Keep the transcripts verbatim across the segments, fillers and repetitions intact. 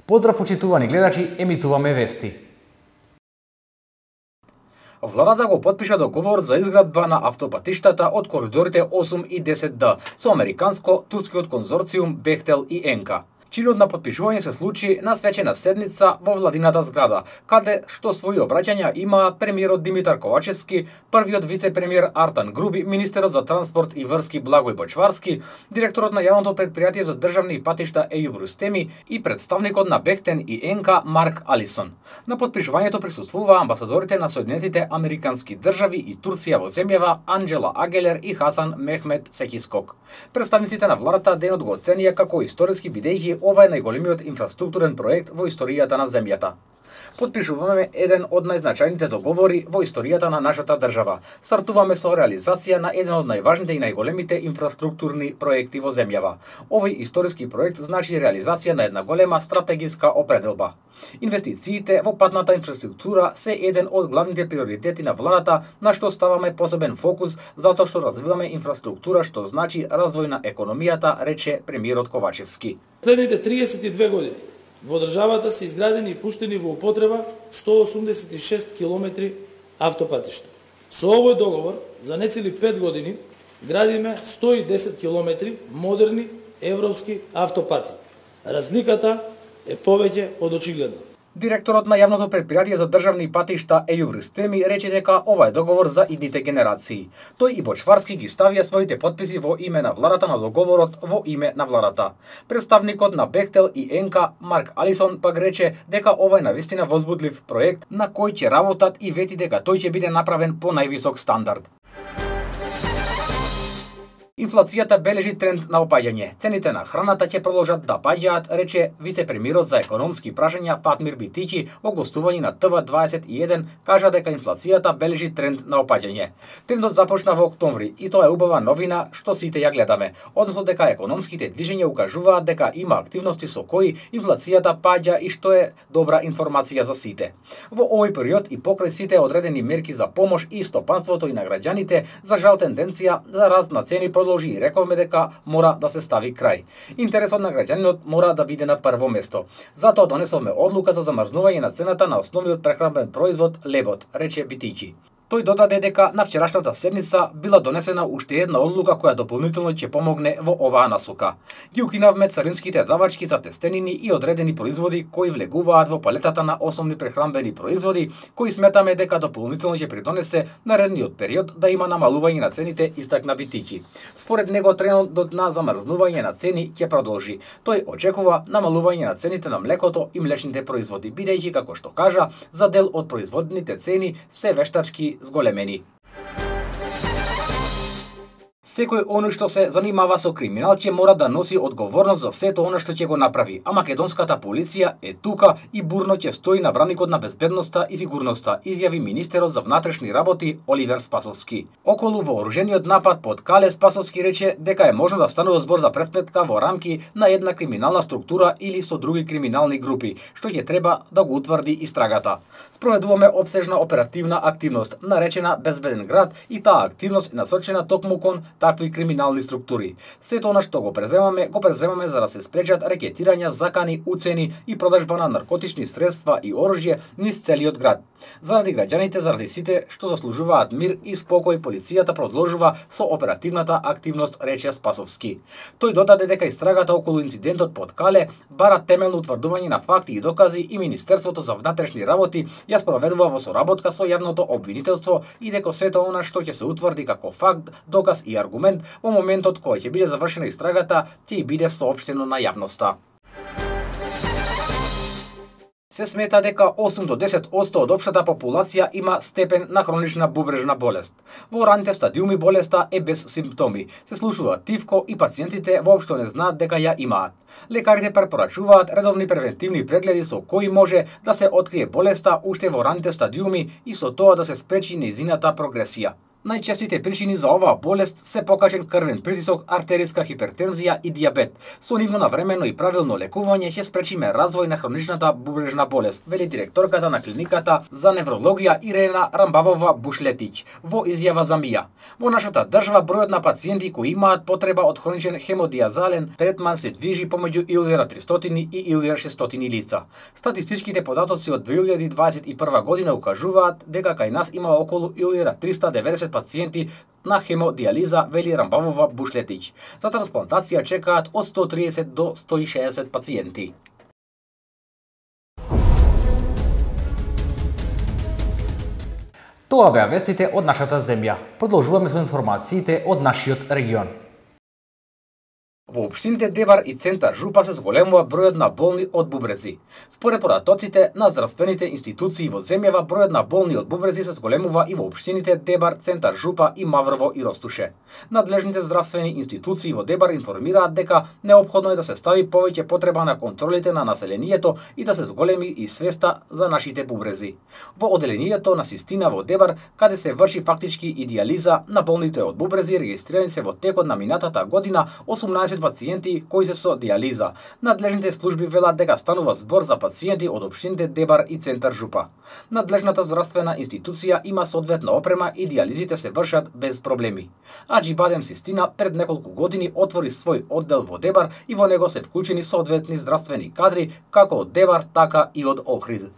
Поздрав почитувани гледачи, емитуваме вести. Владата го потпиша договор за изградба на автопатиштата од коридорите осум и десет Д со американско-турскиот конзорциум Бехтел и Енка. Чинот на потпишување се случи на свечена седница во владината зграда, каде што своји обраќања има премиерот Димитар Ковачевски, првиот вице-премиер Артан Груби, министерот за транспорт и врски Благој Бочварски, директорот на јавното претпријатие за државни патишта Ејуб Рустеми и представникот на Бехтен и Енка Марк Алисон. На потпишувањето присуствуваа амбасадорите на Соединетите Американски држави и Турција во земјава Анџела Агелер и Хасан Мехмет Секискок. Представниците на владата денот го оценија како историски бидејќи ова е најголемиот инфраструктурен проект во историјата на земјата. Потпишуваме еден од најзначајните договори во историјата на нашата држава. Стартуваме со реализација на еден од најважните и најголемите инфраструктурни проекти во земјава. Овој историски проект значи реализација на една голема стратегиска определба. Инвестициите во патната инфраструктура се еден од главните приоритети на владата, на што ставаме посебен фокус затоа што развиваме инфраструктура, што значи развој на економијата, рече премиерот Ковачевски. Следните триесет и две години во државата се изградени и пуштени во употреба сто осумдесет и шест километри автопатишта. Со овој договор за нецели пет години градиме сто и десет километри модерни европски автопати. Разликата е повеќе од очигледна. Директорот на јавното претпријатие за државни патишта Ејуб Рустеми рече дека ова е договор за идните генерации. Тој и Бочварски ги ставија своите потписи во име на владата на договорот во име на владата. Представникот на Бехтел и Енка Марк Алисон пак рече дека ова е навистина возбудлив проект на кој ќе работат и вети дека тој ќе биде направен по највисок стандард. Инфлацијата бележи тренд на опаѓање. Цените на храната ќе продолжат да паѓаат, рече вице-премиерот за економски прашања Фатмир Битиќи во гостување на Т В дваесет и еден, кажа дека инфлацијата бележи тренд на опаѓање. Трендот започна во октомври и тоа е убава новина што сите ја гледаме, односно дека економските движења укажуваат дека има активности со кои инфлацијата паѓа и што е добра информација за сите. Во овој период и покрај сите одредени мерки за помош и стопанството и на граѓаните, за жал тенденција за раст на цени продолжи и рековме дека мора да се стави крај. Интересот на граѓанинот мора да биде на прво место. Затоа донесовме одлука за замрзнување на цената на основниот прехранбен производ лебот, рече Битиќи. Тој додаде дека на вчерашната седница била донесена уште една одлука која дополнително ќе помогне во оваа насока. Ги укинавме царинските давачки за тестенини и одредени производи кои влегуваат во палетата на основни прехранбени производи, кои сметаме дека дополнително ќе придонесе наредниот период да има намалување на цените, истакна Битиќи. Според него трендот на замрзнување на цени ќе продолжи. Тој очекува намалување на цените на млекото и млечните производи, бидејќи како што кажа, за дел од производните цени се вештачки зголемени. Секој оној што се занимава со криминал ќе мора да носи одговорност за сето она што ќе го направи, а македонската полиција е тука и бурно ќе стои на браникот на безбедноста и сигурноста, изјави министерот за внатрешни работи Оливер Спасовски. Околу вооружениот напад под Кале, Спасовски рече дека е можно да станува збор за преспетка во рамки на една криминална структура или со други криминални групи, што ќе треба да го утврди истрагата. Спроведуваме опсежна оперативна активност, наречена Безбеден град, и таа активност е насочена токму кон такви криминални структури. Сето она што го преземаме, го преземаме за да се спречат рекетирања, закани, уцени и продажба на наркотични средства и оружје низ целиот град. Заради граѓаните, заради сите што заслужуваат мир и спокој, полицијата продолжува со оперативната активност, рече Спасовски. Тој додаде дека истрагата околу инцидентот под Кале бара темелно утврдување на факти и докази и Министерството за внатрешни работи ја спроведува во соработка со јавното обвинителство и дека сето она што ќе се утврди како факт, доказ и аргумент во моментот кој ќе биде завршена истрагата, ќе и биде соопштено на јавноста. Се смета дека осум до десет одсто од општата популација има степен на хронична бубрежна болест. Во раните стадиуми болеста е без симптоми. Се слушува тивко и пациентите воопшто не знаат дека ја имаат. Лекарите препорачуваат редовни превентивни прегледи со кои може да се открие болеста уште во раните стадиуми и со тоа да се спречи нејзината прогресија. Најчестите причини за оваа болест се покачен крвен притисок, артериска хипертензија и дијабет. Со нивно навремено и правилно лекување ќе спречиме развој на хроничната бубрежна болест, вели директорката на клиниката за неврологија Ирена Рамбабова-Бушлетиќ во изјава за МИА. Во нашата држава бројот на пациенти кои имаат потреба од хроничен хемодиазален третман се движи помеѓу илјада тристотини и илјада шестстотини лица. Статистичките податоци од две илјади дваесет и прва година укажуваат дека кај нас има околу илјада триста и деветдесет пациенти на хемодиализа, вели Рамбабова-Бушлетиќ. За трансплантација чекаат од сто триесет до сто и шеесет пациенти. Тоа беа вестите од нашата земја. Продолжуваме со информациите од нашиот регион. Во општините Дебар и Центар Жупа се зголемува бројот на болни од бубрези. Според податоците на здравствените институции во земјава, бројот на болни од бубрези се зголемува и во општините Дебар, Центар Жупа и Маврово и Ростуше. Надлежните здравствени институции во Дебар информираат дека неопходно е да се стави повеќе потреба на контролите на населението и да се зголеми и свеста за нашите бубрези. Во оделението на Систина во Дебар, каде се врши фактички и дијализа на болните од бубрези, регистрирани се во текот на минатата година осумнаесет пациенти кои се со дијализа. Надлежните служби велат дека станува збор за пациенти од општините Дебар и Центар Жупа. Надлежната здравствена институција има соодветна опрема и дијализите се вршат без проблеми. Аџибадем Систина пред неколку години отвори свој оддел во Дебар и во него се вклучени соодветни здравствени кадри како од Дебар, така и од Охрид.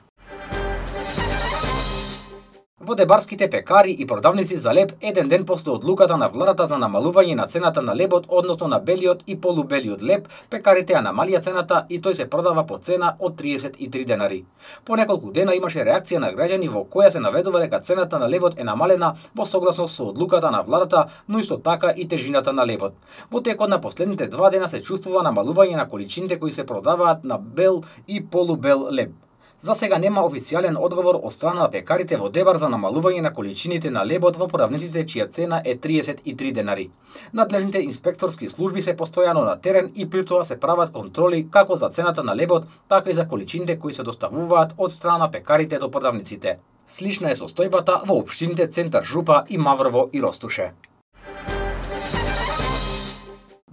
Во дебарските пекари и продавници за леб, еден ден после одлуката на владата за намалување на цената на лебот, односно на белиот и полубелиот леб, пекарите ја намалија цената и тој се продава по цена од триесет и три денари. По неколку дена имаше реакција на граѓани во која се наведува дека цената на лебот е намалена во согласно со одлуката на владата, но исто така и тежината на лебот. Во текот на последните два дена се чувствува намалување на количините кои се продаваат на бел и полубел леб. За сега нема официјален одговор од страна на пекарите во Дебар за намалување на количините на лебот во продавниците чија цена е триесет и три денари. Надлежните инспекторски служби се постојано на терен и при тоа се прават контроли како за цената на лебот, така и за количините кои се доставуваат од страна на пекарите до продавниците. Слична е состојбата во општините Центар Жупа и Маврово и Ростуше.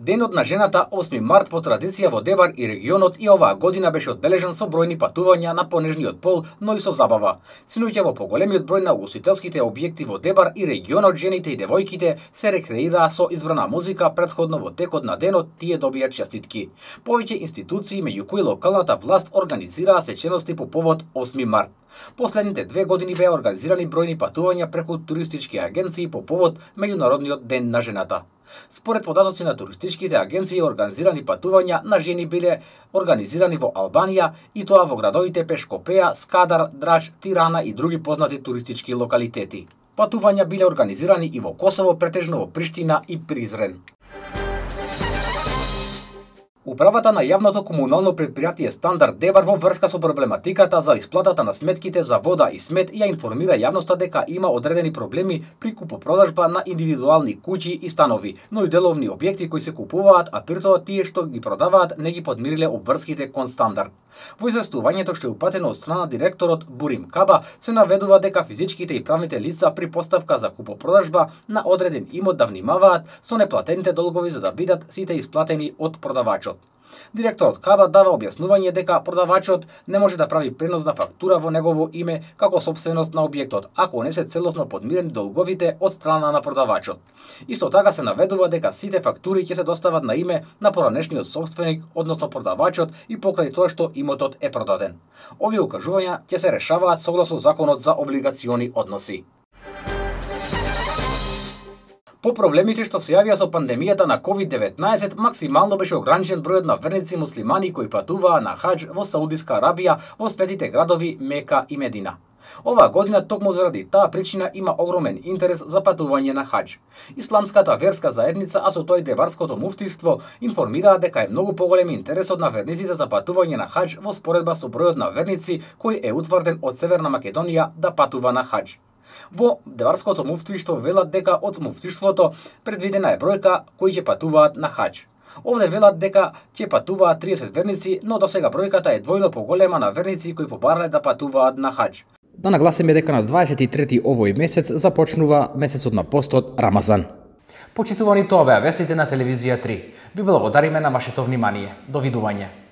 Денот на жената осми март по традиција во Дебар и регионот и оваа година беше одбележан со бројни патувања на понежниот пол, но и со забава. Синоќа во поголемиот број на угостителските објекти во Дебар и регионот жените и девојките се рекреираа со избрана музика претходно во текот на денот, тие добија честитки. Повеќе институции, меѓу кои локалната власт, организираа сечености по повод осми март. Последните две години беа организирани бројни патувања преку туристички агенции по повод Меѓународниот ден на жената. Според податоци на туристичките агенции, организирани патувања на жени биле организирани во Албанија и тоа во градовите Пешкопеја, Скадар, Драч, Тирана и други познати туристички локалитети. Патувања биле организирани и во Косово, претежно во Приштина и Призрен. Управата на јавното комунално претпријатие Стандард Дебар во врска со проблематиката за исплатата на сметките за вода и смет ја информира јавноста дека има одредени проблеми при купопродажба на индивидуални куќи и станови, но и деловни објекти кои се купуваат, а при тоа тие што ги продаваат не ги подмириле обврските кон Стандард. Во известувањето што е упатено од страна директорот Бурим Каба се наведува дека физичките и правните лица при постапка за купопродажба на одреден имот да внимаваат со неплатените долгови за да бидат сите исплатени од продавачот. Директорот Каба дава објаснување дека продавачот не може да прави пренос на фактура во негово име како сопственост на објектот, ако не се целосно подмирени долговите од страна на продавачот. Исто така се наведува дека сите фактури ќе се достават на име на поранешниот сопственик, односно продавачот, и покрај тоа што имотот е продаден. Овие укажувања ќе се решаваат согласно Законот за облигациони односи. По проблемите што се јавија со пандемијата на ковид деветнаесет, максимално беше ограничен бројот на верници муслимани кои патуваа на хадж во Саудиска Арабија, во светите градови Мека и Медина. Оваа година токму заради таа причина има огромен интерес за патување на хадж. Исламската верска заедница, а со тој дебарското муфтиство, информираа дека е многу поголем интересот на верниците за патување на хадж во споредба со бројот на верници кој е утврден од Северна Македонија да патува на хадж. Во Дебарското муфтиштво велат дека од муфтиштвото предвидена е бројка кои ќе патуваат на хадж. Овде велат дека ќе патуваат триесет верници, но досега бројката е двојно поголема на верници кои побарале да патуваат на хадж. Да нагласиме дека на дваесет и трети овој месец започнува месецот на постот Рамазан. Почитувани, тоа беа вестите на телевизија три. Ви благодариме на вашето внимание. Довидување.